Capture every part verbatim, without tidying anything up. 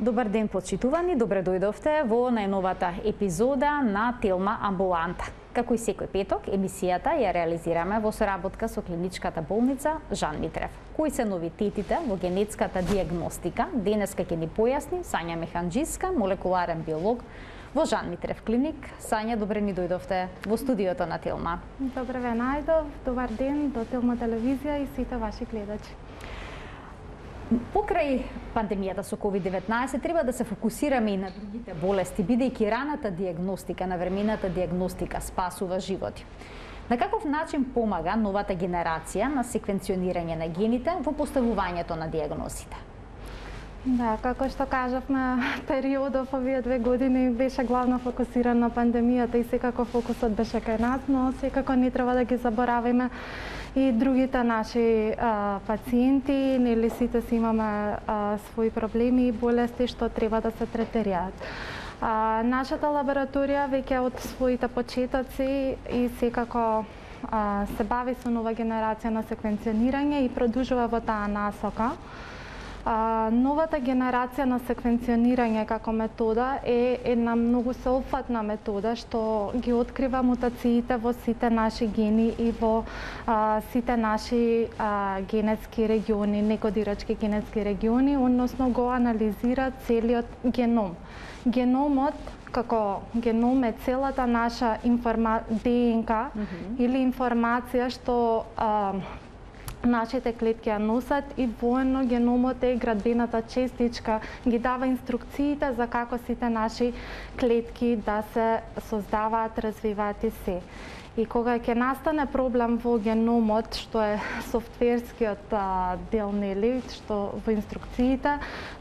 Добар ден, почитувани, добре дојдовте во најновата епизода на Телма Амбуланта. Како и секој петок, емисијата ја реализираме во соработка со клиничката болница Жан Митрев. Кои се новитетите во генетската диагностика, денеска ќе ни појасни Сања Механџиска, молекуларен биолог во Жан Митрев клиник. Сања, добре ни дојдовте во студиото на Телма. Добре ве најдов, добар ден до Телма телевизија и сите ваши гледачи. Покрај пандемијата со ковид деветнаесет треба да се фокусираме и на другите болести, бидејќи раната диагностика, навремената диагностика спасува животи. На каков начин помага новата генерација на секвенционирање на гените во поставувањето на диагнозите? Да, како што кажавме, периодов овие две години беше главно фокусиран на пандемијата и секако фокусот беше кај нас, но секако не треба да ги забораваме и другите наши а, пациенти, нели сите си имаме а, своји проблеми и болести што треба да се третираат. А, нашата лабораторија веќе од своите почетоци и секако а, се бави со нова генерација на секвенционирање и продолжува во таа насока. А, новата генерација на секвенционирање како метода е една многу сеопфатна метода што ги открива мутациите во сите наши гени и во а, сите наши а, генетски региони, некодирачки генетски региони, односно го анализира целиот геном. Геномот како геном е целата наша информа... ДНК mm-hmm. или информација што а, нашите клетки ја носат и воено геномот е градбената честичка, ги дава инструкциите за како сите наши клетки да се создаваат, развиваат и се. И кога ќе настане проблем во геномот, што е софтверскиот а, дел, нели, што во инструкциите,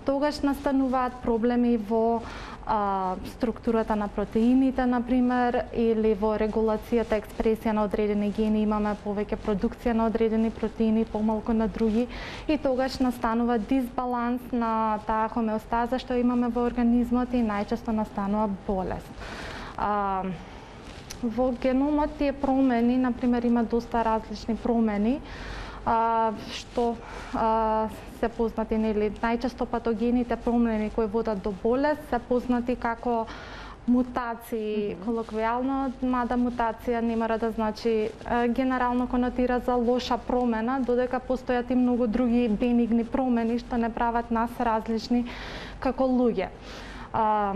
тогаш настануваат проблеми во а, структурата на протеините, например, или во регулацијата, експресија на одредени гени, имаме повеќе продукција на одредени протеини, помалку на други, и тогаш настанува дисбаланс на таа хомеостаза што имаме во организмот и најчесто настанува болест. А, Во геномот тие промени, например, има доста различни промени, а, што а, се познати, нели, најчесто патогените промени кои водат до болест се познати како мутации, mm-hmm. колоквијално, мада мутација не мора да значи а, генерално конотира за лоша промена, додека постојат и многу други бенигни промени што не прават нас различни како луѓе. А,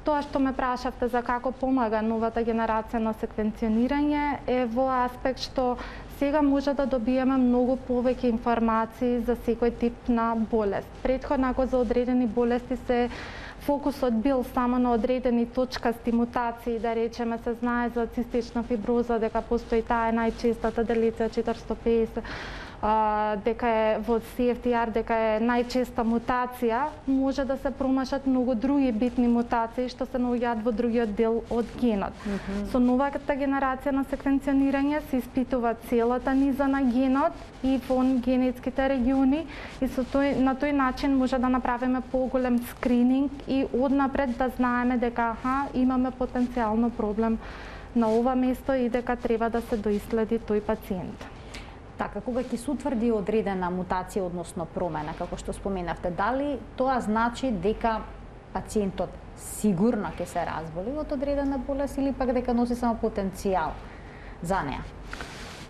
Тоа што ме прашавте за како помага новата генерација на секвенционирање е во аспект што сега може да добиеме многу повеќе информации за секој тип на болест. Претходно, ако за одредени болести се фокусот бил само на одредени точкасти мутации, да речеме се знае за цистична фиброза, дека постои таа е најчестата делиција четиристо педесет, а, дека е во си еф ти ар, дека е најчеста мутација, може да се промашат многу други битни мутации што се наоѓаат во другиот дел од генот. Mm-hmm. Со новата генерација на секвенционирање се испитува целата низа на генот и вон генетските региони и со тој, на тој начин може да направиме поголем скрининг и однапред да знаеме дека аха, имаме потенцијално проблем на ова место и дека треба да се доиследи тој пациент. Така, кога ќе се утврди одредена мутација, односно промена, како што споменавте, дали тоа значи дека пациентот сигурно ќе се разболи од одредена болест или пак дека носи само потенцијал за неа?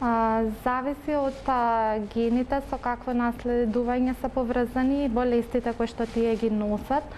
А, зависи од а, гените со какво наследување се поврзани и болестите кои што тие ги носат.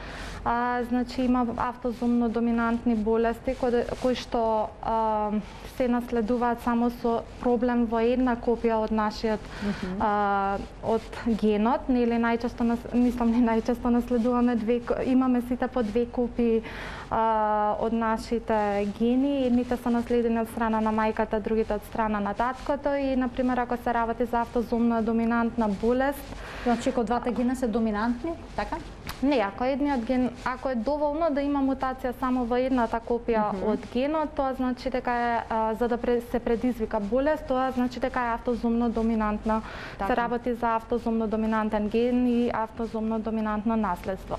А, значи има автозомно доминантни болести кои, кои што а, се наследуваат само со проблем во една копија од нашиот mm-hmm. а, од генот, нели најчесто нас, мислам не најчесто наследуваме две, имаме сите по две копии а, од нашите гени, едните се наследени од страна на мајката, другите од страна на таткото и на пример ако се работи за автозомна доминантна болест, значи ако двата гена се доминантни, така? Не, ако едниот ген, ако е доволно да има мутација само во едната копија mm-hmm. од генот, тоа значи дека е а, за да се предизвика болест, тоа значи дека е автозомно доминантна. Така. Се работи за автозомно доминантен ген и автозомно доминантно наследство.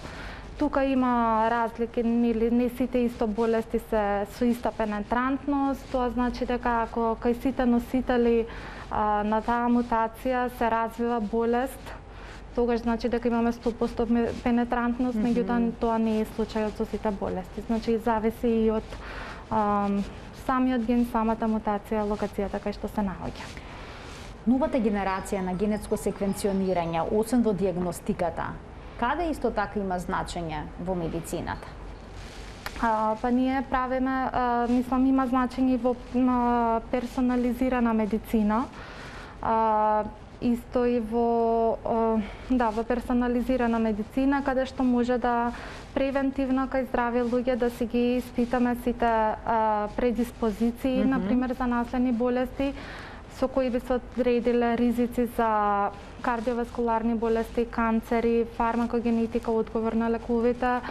Тука има разлики, нели не сите исто болести се со иста пенетрантност, тоа значи дека ако кај сите носители а, на таа мутација се развива болест, тогаш значи дека имаме сто проценти пенетрантност, mm -hmm. меѓутоа тоа не е случајот со сите болести. Значи зависи и од ам, самиот ген, самата мутација, локацијата кај што се наоѓа. Новата генерација на генетско секвенционирање, освен во диагностиката, каде исто така има значење во медицината? А, па ние правиме, а, мислам, има значење во а, персонализирана медицина. А, исто и во а, да, во персонализирана медицина, каде што може да превентивно кај здрави луѓе да си ги испитаме сите а, предиспозиции, mm -hmm. например за наследни болести, со кои би се одредиле ризици за кардиоваскуларни болести, канцери, фармакогенетика, одговор на лековите,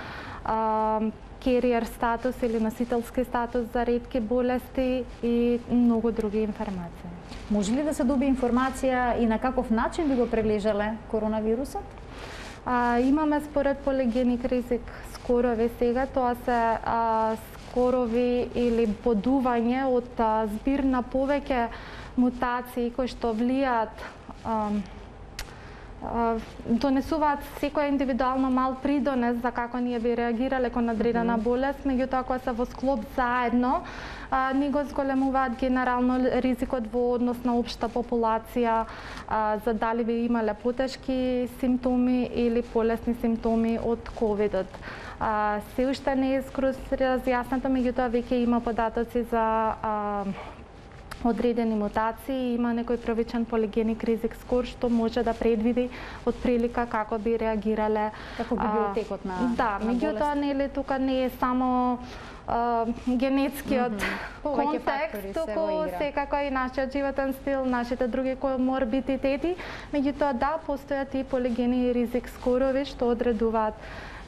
а, кериер статус или носителски статус за ретки болести и многу други информации. Може ли да се добие информација и на каков начин би го прележале коронавирусот? А, имаме според полигеник ризик скорови сега, тоа се а, скорови или бодување од а, збир на повеќе мутации кои што влијаат, а, донесуваат секоја индивидуално мал придонес за како ние би реагирале кон одредена болест, меѓутоа кога се во склоп заедно, а, ни го зголемуваат генерално ризикот во однос на општа популација, а, за дали би имале потешки симптоми или полесни симптоми од ковидот. А, се уште не е скроз разјаснато, меѓутоа веќе има податоци за а, одредени мутации, има некој првичен полигеник ризик скор што може да предвиди од прилика како би реагирале. Како би бил текот на Да, меѓутоа нели тука не е само а, генетскиот mm -hmm. контекст, туку секако и нашиот животен стил, нашите други коморбидитети, меѓутоа да, постојат и полигени ризик скорови што одредуваат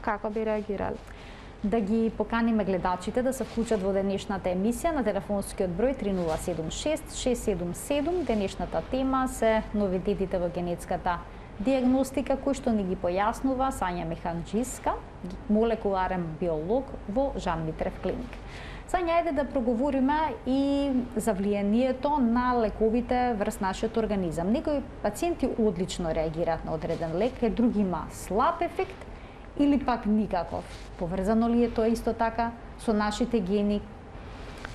како би реагирале. Да ги поканиме гледачите да се вклучат во денешната емисија на телефонскиот број три нула седум шест шест седум седум. Денешната тема се новитетите во генетската диагностика, кој што ни ги појаснува Сања Механџиска, молекуларен биолог во Жан Митрев клиник. Сања, ајде да проговориме и за влијанието на лековите врз нашиот организам. Некои пациенти одлично реагираат на одреден лек, други има слаб ефект, или пак никаков? Поврзано ли е тоа исто така со нашите гени?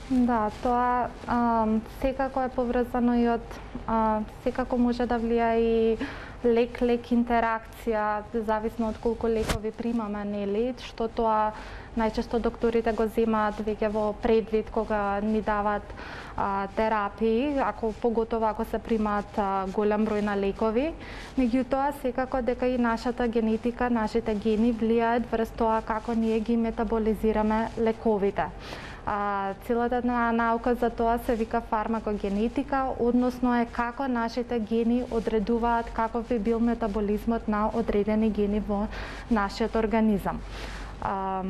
Да, тоа а, секако е поврзано и од а, секако може да влија и лек-лек интеракција, зависно од колку лекови примаме, нели, што тоа најчесто докторите го земаат веќе во предвид кога ни даваат а, терапии, ако поготово ако се примаат а, голем број на лекови. Меѓутоа, секако дека и нашата генетика, нашите гени влијаат врз тоа како ние ги метаболизираме лековите. А, целата наука за тоа се вика фармакогенетика, односно е како нашите гени одредуваат каков би бил метаболизмот на одредени гени во нашиот организам. А,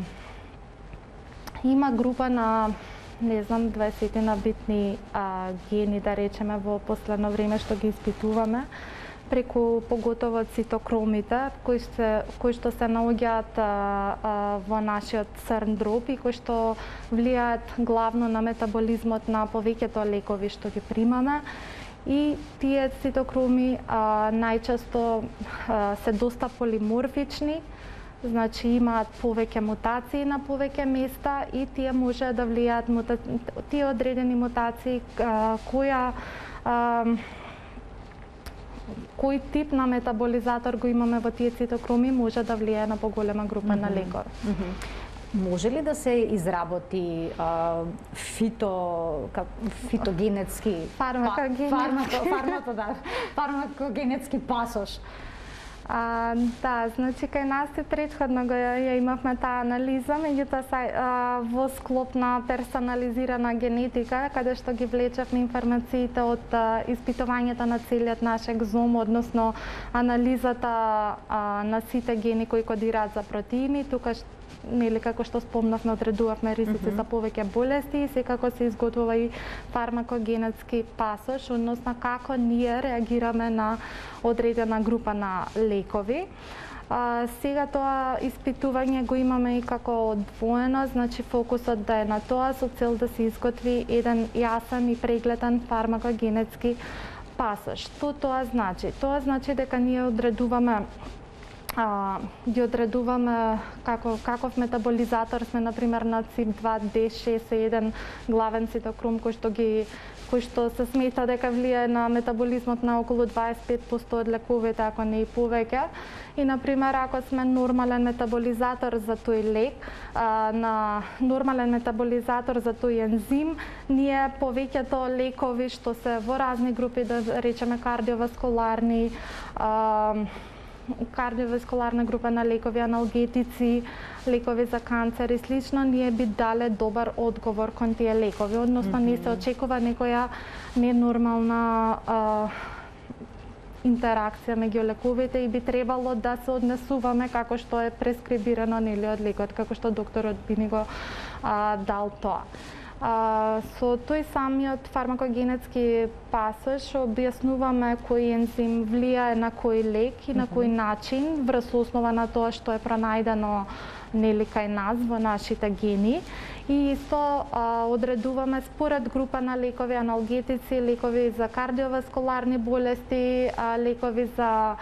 има група на, не знам, дваесет на битни а, гени, да речеме, во последно време што ги испитуваме, преку поготово цитокромите, кои, се, кои што се наоѓаат во нашиот црн дроб и кои што влијаат главно на метаболизмот на повеќето лекови што ги примаме. И тие цитокроми а, најчесто а, се доста полиморфични, значи имаат повеќе мутации на повеќе места и тие може да влијаат мута... тие одредени мутации а, која а, кој тип на метаболизатор го имаме во тие цитокроми може да влијае на поголема група mm -hmm. на лекови. Mm -hmm. Може ли да се изработи а, фито как, фитогенетски фармакогенетски фармако, фармако, да, фармакогенетски пасош? А, да, значи кај нас и претходно го ја имавме таа анализа, меѓутоа во склоп на персонализирана генетика, каде што ги влечевме информациите од а, испитувањето на целиот наш екзом, односно анализата а, на сите гени кои кодираат за протеини, тука нели како што спомнавме, одредувавме ризици mm -hmm. за повеќе болести и секако се изготвува и фармакогенетски пасош, односно како ние реагираме на одредена група на лекови. А, сега тоа испитување го имаме и како одвоено, значи фокусот да е на тоа со цел да се изготви еден јасен и прегледен фармакогенетски пасош. Што тоа значи? Тоа значи дека ние одредуваме а, ги одредуваме како каков метаболизатор сме, например, на Ц И П два, Д шест е еден главен цитокром кој што ги кој што се смета дека влијае на метаболизмот на околу дваесет и пет проценти од лековите, ако не и повеќе. И, например, ако сме нормален метаболизатор за тој лек, а, на нормален метаболизатор за тој ензим, ние повеќето лекови што се во разни групи, да речеме кардиоваскуларни, а, кардиоваскуларна група на лекови, аналгетици, лекови за канцер и слично, ние би дале добар одговор кон тие лекови, односно не се очекува некоја ненормална а, интеракција меѓу лековите и би требало да се однесуваме како што е прескрибирано нели од лекот, како што докторот би ни го а, дал тоа. А, со тој самиот фармакогенетски пасош објаснуваме кој ензим влијае на кој лек и на кој начин врз основа на тоа што е пронајдено нели кај нас во нашите гени. И исто а, одредуваме според група на лекови, аналгетици, лекови за кардиоваскуларни болести, а, лекови за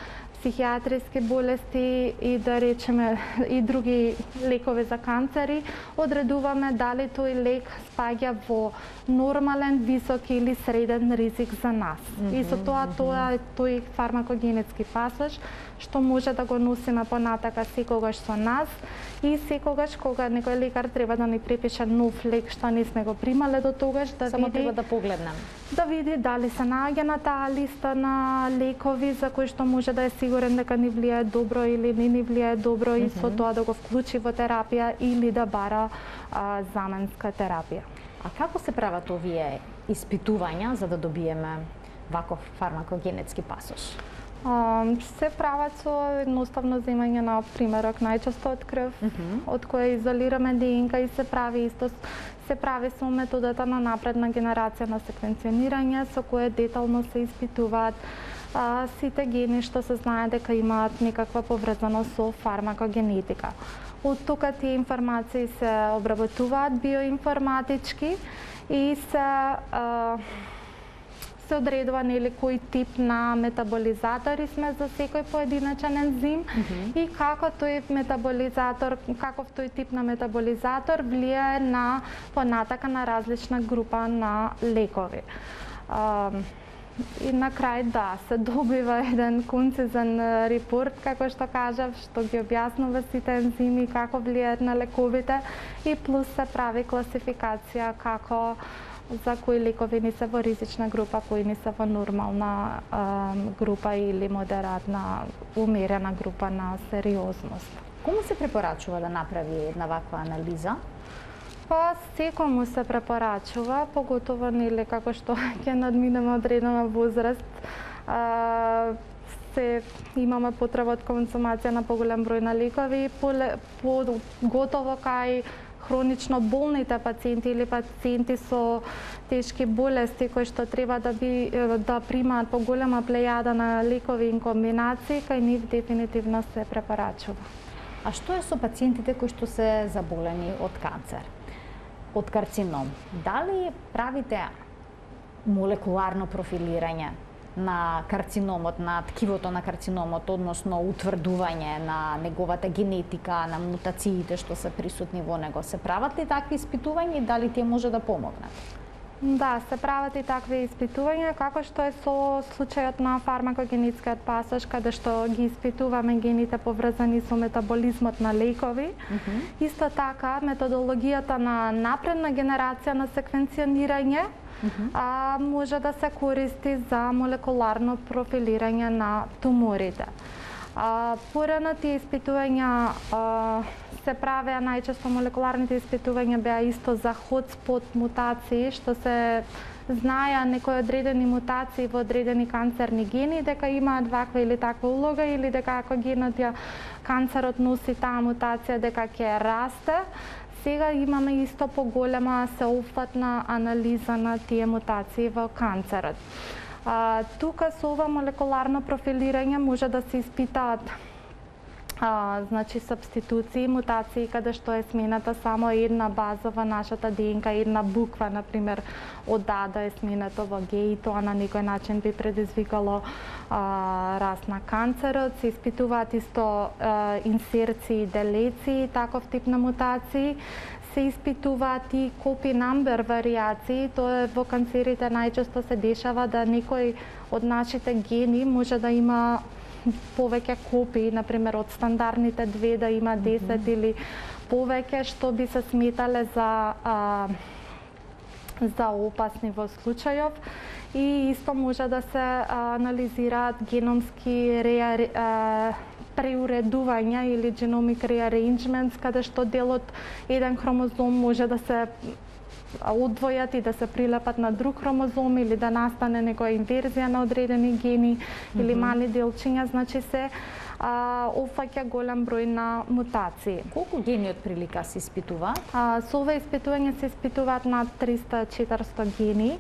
психијатриски болести и да речеме и други лекови за канцери, одредуваме дали тој лек спаѓа во нормален, висок или среден ризик за нас. Mm -hmm, и со тоа тоа е тој фармакогенетски пасош што може да го носиме понатака секогаш со нас и секогаш кога некој лекар треба да ни препише нов лек што не сме го примале до тогаш, да само види, треба да погледнем. Да види дали се наоѓа на таа листа на лекови за кои што може да е сигурен дека ни влијае добро или не ни влијае добро mm -hmm. и со тоа да го вклучи во терапија или да бара а, заменска терапија. А како се прават овие испитувања за да добиеме ваков фармакогенетски пасош? Um, се прават со едноставно земање на примерок, најчесто од крв, mm -hmm. од која изолираме Д Н К и се прави исто се прави со методата на напредна генерација на секвенционирање, со која детално се испитуваат а, сите гени што се знае дека имаат некаква поврзаност со фармакогенетика. Од тука тие информации се обработуваат биоинформатички и се а, се одредува нели кој тип на метаболизатори сме за секој поединачен ензим mm -hmm. и како тој метаболизатор, каков тој тип на метаболизатор влијае на понатака на различна група на лекови. А, и на крај да, се добива еден концизен репорт, како што кажав, што ги објаснува сите ензими, како влијаат на лековите и плюс се прави класификација како за кои лекови не се во ризична група, кои не се во нормална а, група или модератна, умерена група на сериозност. Кому се препорачува да направи една ваква анализа? Па секому се препорачува, поготово нели како што ќе надминеме одредена возраст, а, се имаме потреба од консумација на поголем број на лекови, поготово кај хронично болните пациенти или пациенти со тешки болести кои што треба да би да примаат поголема плејада на лекови и комбинации, кај нив дефинитивно се препорачува. А што е со пациентите кои што се заболени од канцер, од карцином? Дали правите молекуларно профилирање на карциномот, на ткивото на карциномот, односно утврдување на неговата генетика, на мутациите што се присутни во него? Се прават ли такви испитувања и дали тие може да помогнат? Да, се прават и такви испитувања, како што е со случајот на фармакогенетскиот пасош, каде што ги испитуваме гените поврзани со метаболизмот на лекови. Mm -hmm. Исто така, методологијата на напредна генерација на секвенционирање Mm -hmm. а, може да се користи за молекуларно профилирање на туморите. А, порано тие испитувања а, се правеа најчесто молекуларните испитувања беа исто за хотспот мутации, што се знаеа некои одредени мутации во одредени канцерни гени, дека имаат ваква или таква улога, или дека ако генот ја канцерот носи таа мутација, дека ќе расте. Сега имаме исто поголема сеопфатна анализа на тие мутации во канцерот. А, тука со ова молекуларно профилирање може да се испитаат А, значи сабституции, мутации каде што е смената само една база во нашата Д N K, една буква, например, од А да е сменато во Г и тоа на некој начин би предизвикало а, раст на канцерот. Се испитуваат исто а, инсерции, делеции, таков тип на мутации. Се испитуваат и copy number вариации, тоа е во канцерите најчесто се дешава да некој од нашите гени може да има повеќе копии, например од стандардните две да има десет mm-hmm. или повеќе, што би се сметале за а, за опасни во случајов. И исто може да се а, анализираат геномски реа, а, преуредувања или genomic rearrangements, каде што дел од еден хромозом може да се одвојат и да се прилепат на друг хромозом или да настане некоја инверзија на одредени гени mm-hmm. или мали делчиња, значи се а, опфаќа голем број на мутации. Колку гени од прилика се испитуваат? А, со ова испитување се испитуваат над триста до четиристо гени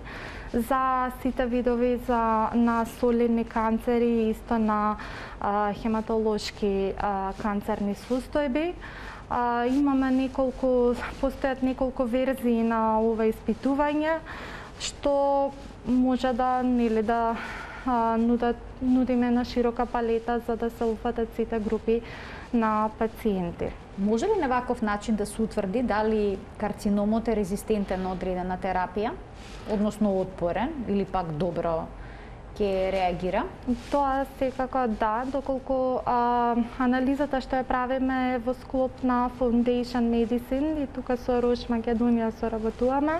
за сите видови за на солидни канцери и исто на а, хематолошки а, канцерни состојби. А, имаме неколку, постојат неколку верзии на ова испитување, што може да, нели, да а, нудат, нудиме на широка палета за да се уфатат сите групи на пациенти. Може ли на ваков начин да се утврди дали карциномот е резистентен на одредена терапија, односно отпорен или пак добро ќе реагира? Тоа секако да, доколку а, анализата што ја правиме во склоп на Foundation Medicine и тука со Рош Македонија соработуваме.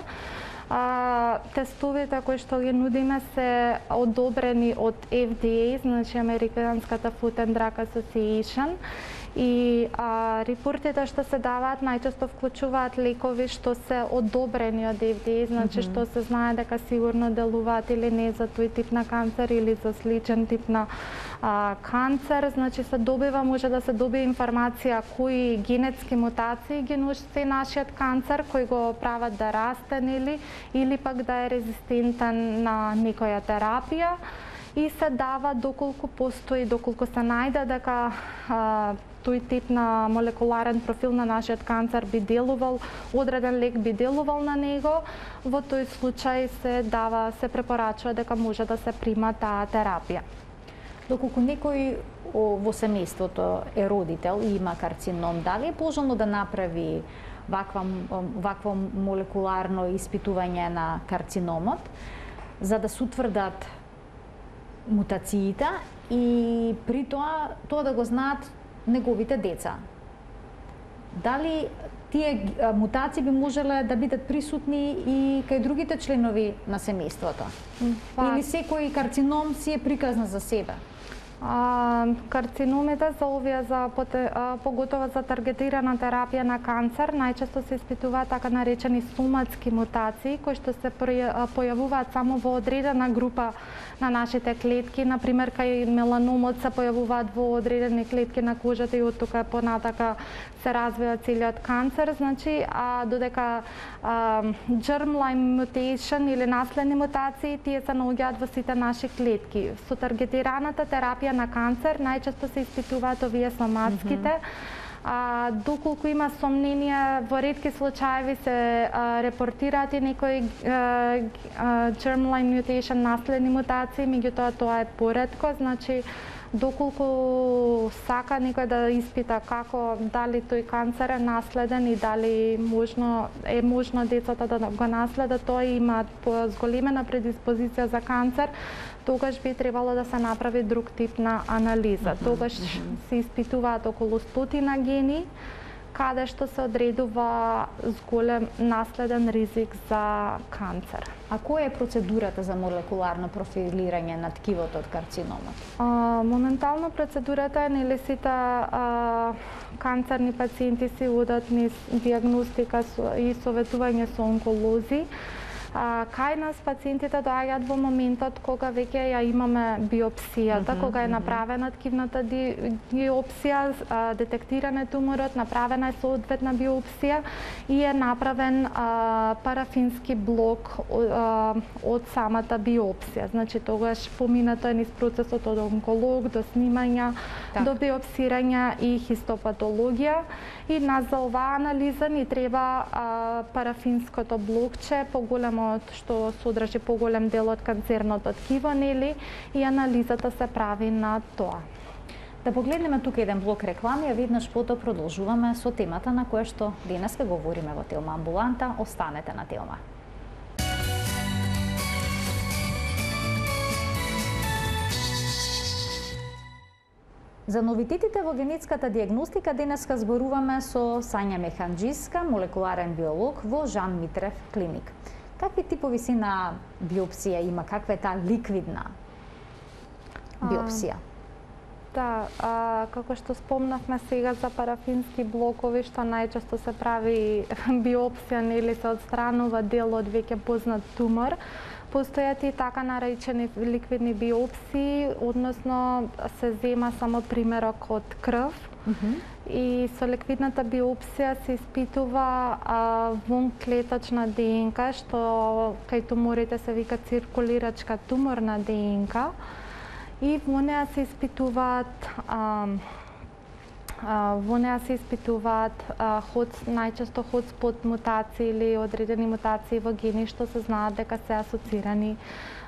А, тестовите кои што ги нудиме се одобрени од F D A, значи Американската Food and Drug Association. И а, репортите што се даваат најчесто вклучуваат лекови што се одобрени од F D A, значи mm-hmm. што се знае дека сигурно делуваат или не за тој тип на канцер или за сличен тип на а, канцер. Значи се добива, може да се добие информација кои генетски мутации ги носи нашиот канцер, кои го прават да расте или или пак да е резистентен на некоја терапија. И се дава доколку постои, доколку се најде дека а, тој тип на молекуларен профил на нашиот канцер би делувал, одреден лек би делувал на него, во тој случај се дава, се препорачува дека може да се прима таа терапија. Доколку некој во семејството е родител и има карцином, дали е пожелно да направи ваква, вакво молекуларно испитување на карциномот, за да се утврдат мутациите и при тоа тоа да го знаат неговите деца? Дали тие мутации би можеле да бидат присутни и кај другите членови на семејството? Па... Или секој карцином си е приказна за себе? А, карциномите за овие за а, поготово за таргетирана терапија на канцер најчесто се испитуваат така наречени соматски мутации кои што се појавуваат само во одредена група на нашите клетки, например кај меланомот се појавуваат во одредени клетки на кожата и од тука понатака се развива целиот канцер, значи а додека а, germline mutation или наследни мутации тие се наоѓаат во сите наши клетки. Со таргетираната терапија на канцер најчесто се испитуваат овие соматските. Mm-hmm. А, доколку има сомнение, во ретки случаеви се а, репортираат и некои а, а, germline mutation наследни мутации, меѓутоа тоа е поретко, значи доколку сака некој да испита како дали тој канцер е наследен и дали можно е можно децата да го наследат, тоа имаат зголемена предиспозиција за канцер, тогаш би требало да се направи друг тип на анализа. Mm-hmm. Тогаш mm-hmm. се испитуваат околу стотина гени, каде што се одредува зголем наследен ризик за канцер. А која е процедурата за молекуларно профилирање на ткивото од карциномот? А, моментално процедурата е нели сите а, канцерни пациенти си одат низ дијагностика и советување со онколози. А, кај нас пациентите доаѓаат во моментот кога веќе ја имаме биопсијата, mm -hmm, кога е направена ткивната биопсија, детектиран е туморот, направена е соодветна биопсија и е направен а, парафински блок а, од самата биопсија. Значи тогаш поминато е низ процесот од онколог до снимања, так, до биопсирање и хистопатологија. И нас за оваа анализа ни треба а, парафинското блокче, поголемо што содржи поголем дел од канцерното ткиво, нели, и анализата се прави на тоа. Да погледнеме тука еден блок реклами, а веднаш потоа продолжуваме со темата на која што денеска говориме во Телма амбуланта. Останете на Телма. За новитетите во генетската диагностика денеска зборуваме со Сања Механџиска, молекуларен биолог во Жан Митрев клиник. Какви типови си на биопсија има? Каква е таа ликвидна биопсија? А, да, а, како што спомнавме сега за парафински блокови, што најчесто се прави биопсија, нели се отстранува дел од веќе познат тумор. Постојат и така наречени ликвидни биопсии, односно се зема само примерок од крв. Mm -hmm. И со ликвидната биопсија се испитува а, вонклетачна ДНК, што кај туморите се вика циркулирачка туморна ДНК. И во неа се испитуваат а, во неа се испитуваат а, ход, најчесто хотспот мутации или одредени мутации во гени што се знаат дека се асоцирани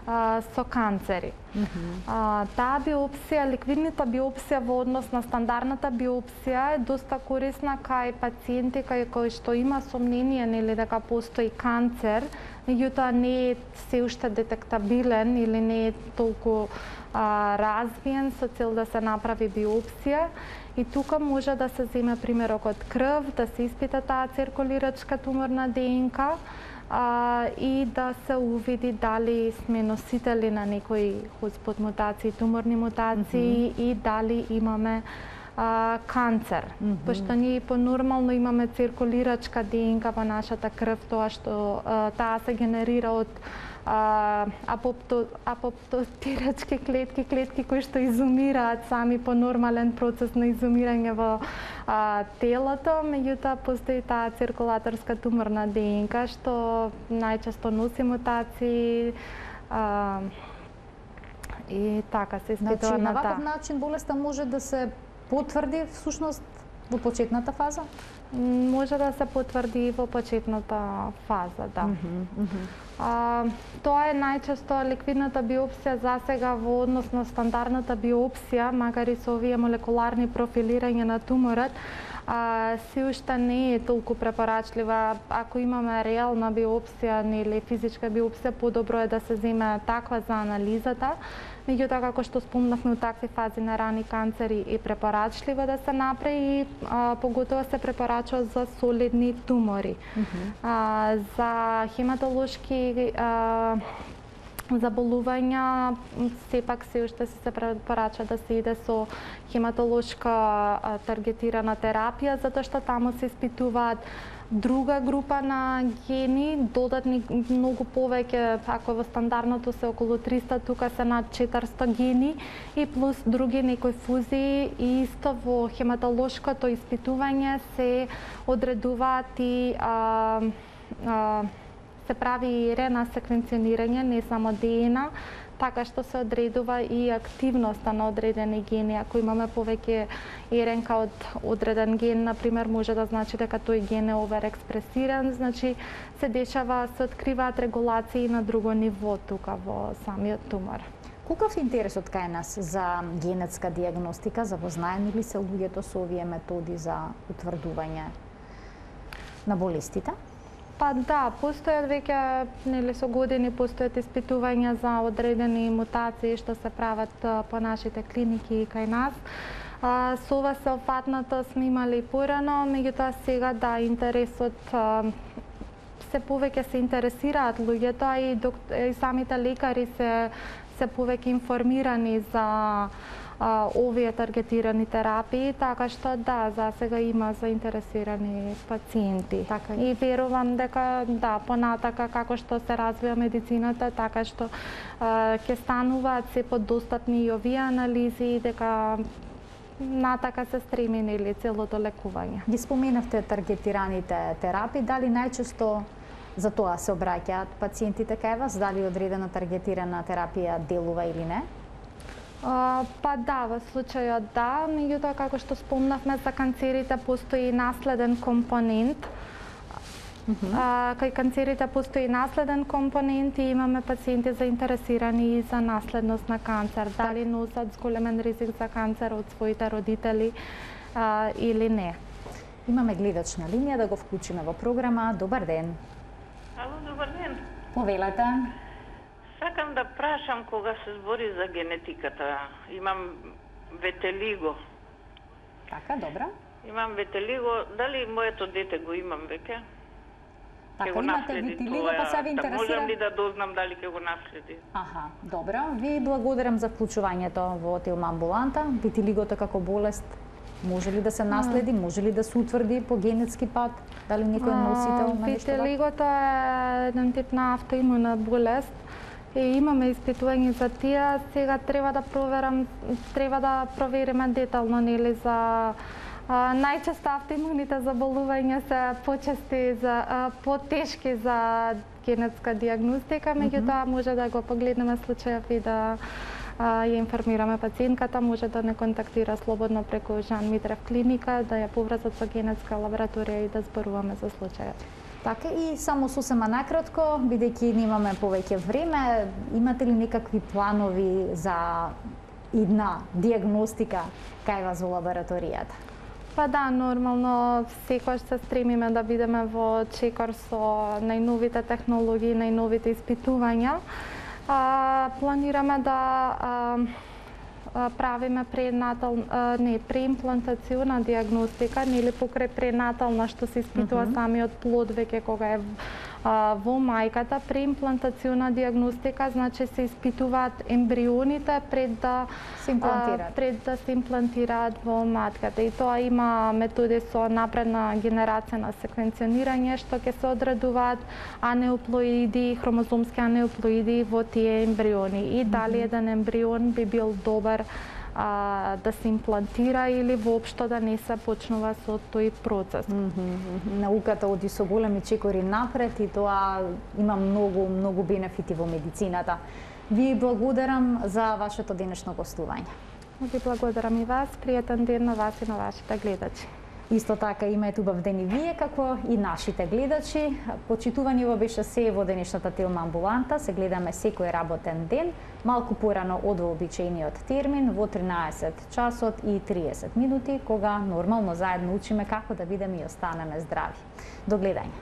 а, со канцери. Mm -hmm. а, таа биопсија, ликвидната биопсија во однос на стандардната биопсија е доста корисна кај пациенти кај кои што има сомнение, нели, дека постои канцер, меѓутоа не е се уште детектабилен или не е толку а, развиен со цел да се направи биопсија. И тука може да се земе примерок од крв, да се испита таа циркулирачка туморна ДНК а, и да се увиди дали сме носители на некои хотспот мутации, туморни мутации, mm -hmm. и дали имаме а, канцер. Mm -hmm. Пошто ние понормално имаме циркулирачка ДНК во нашата крв, тоа што а, таа се генерира од апопто, апоптотирачки клетки, клетки кои што изумираат сами по нормален процес на изумирање во а, телото, меѓутоа постои таа циркулаторска туморна ДНК што најчесто носи мутации а, и така се испитува, значи, на таа. На ваков начин болеста може да се потврди всушност во почетната фаза? Може да се потврди во почетната фаза, да. Mm -hmm, mm -hmm. А, тоа е најчесто ликвидната биопсија засега во однос на стандардната биопсија, макар и со овие молекуларни профилирање на туморот, а, се уште не е толку препорачлива. Ако имаме реална биопсија или физичка биопсија, подобро е да се земе таква за анализата. Меѓутоа, како што спомнавме, у такви фази на рани канцери е препорачливо да се направи и а, поготово се препорачува за солидни тумори. Mm -hmm. а, за хематолошки а, заболувања сепак се уште се препорачува да се иде со хематолошка а, таргетирана терапија, затоа што таму се испитуваат друга група на гени, додатни многу повеќе, ако во стандардното се околу триста, тука се над четиристо гени и плюс други некои фузии, и исто во хематолошкото испитување се одредуваат и а, а, се прави рена секвенционирање, не само ДНК, така што се одредува и активноста на одредени гени. Ако имаме повеќе РНК од одреден ген, например, може да значи дека тој ген е оверекспресиран, значи се дешава, се откриваат регулации на друго ниво тука во самиот тумор. Колкав е интересот кај нас за генетска диагностика? Запознаени ли се луѓето со овие методи за утврдување на болестите? Па да, постојат веќе, нели, со години постојат испитувања за одредени мутации што се прават по нашите клиники и кај нас. А, со ова сеопфатното сме имали порано, меѓутоа сега да, интересот а, се повеќе се интересираат луѓето, а и, док... и самите лекари се се повеќе информирани за а, овие таргетирани терапии, така што да, за сега има заинтересирани пациенти. Така. И верувам дека да, понатака како што се развива медицината, така што ќе стануваат се подостапни и овие анализи, дека натака се стреми нели целото лекување. Ги споменавте таргетираните терапии, дали најчесто за тоа се обраќаат пациентите кај вас, дали одредена таргетирана терапија делува или не? Uh, па да, во случајот да, меѓутоа како што спомнавме за канцерите постои наследен компонент. Uh -huh. uh, кај канцерите постои наследен компонент и имаме пациенти заинтересирани и за наследност на канцер, дали носат зголемен ризик за канцер од своите родители uh, или не. Имаме гледач на линија, да го вклучиме во програма. Добар ден. Ало, добар ден. Повелете. Сакам да прашам кога се збори за генетиката. Имам ветелиго. Така, добро. Имам ветелиго. Дали моето дете го имам веќе? Така, имате ветелиго, па се ви интересира... Можам ли да дознам дали ќе го наследи? Аха, добро. Ви благодарам за вклучувањето во Телма амбуланта. Ветелигото како болест може ли да се наследи, може ли да се утврди по генетски пат? Дали некој е носител на нешто? Ветелигото е еден тип на автоимуна болест. И имаме испитување за тие. Сега треба да проверам, треба да провериме детално нели за а, најчесто автоимуните заболувања се почести за а, потешки за генетска дијагностика, меѓутоа може да го погледнеме случајов и да а, ја информираме пациентката, може да не контактира слободно преку Жан Митрев клиника, да ја поврзат со генетска лабораторија и да зборуваме за случајот. Така, и само сосема накратко, бидејќи немаме повеќе време, имате ли некакви планови за идна дијагностика кај вас во лабораторијата? Па да, нормално секогаш се стремиме да бидеме во чекор со најновите технологии, најновите испитувања. А, планираме да а, правиме пренатал, не, преимплантациона дијагностика, нели покрај пренатална што се испитува uh -huh. самиот плод веќе кога е а, во мајката, преимплантациона дијагностика, значи се испитуваат ембрионите пред да се имплантираат, а, пред да се имплантираат во матката. И тоа има методи со напредна генерација на секвенционирање што ќе се одредуваат анеуплоиди, хромозомски анеуплоиди во тие ембриони и дали еден ембрион би бил добар а, да се имплантира или воопшто да не се почнува со тој процес. Mm -hmm. Науката оди со големи чекори напред и тоа има многу, многу бенефити во медицината. Ви благодарам за вашето денешно гостување. Ви благодарам и вас, пријатен ден на вас и на вашите гледачи. Исто така имајте убав ден и вие, како и нашите гледачи. Почитувани во беше се во денешната Телма амбуланта. Се гледаме секој работен ден, малку порано од вообичаениот термин, во тринаесет часот и триесет минути, кога нормално заедно учиме како да бидеме и останеме здрави. До гледање.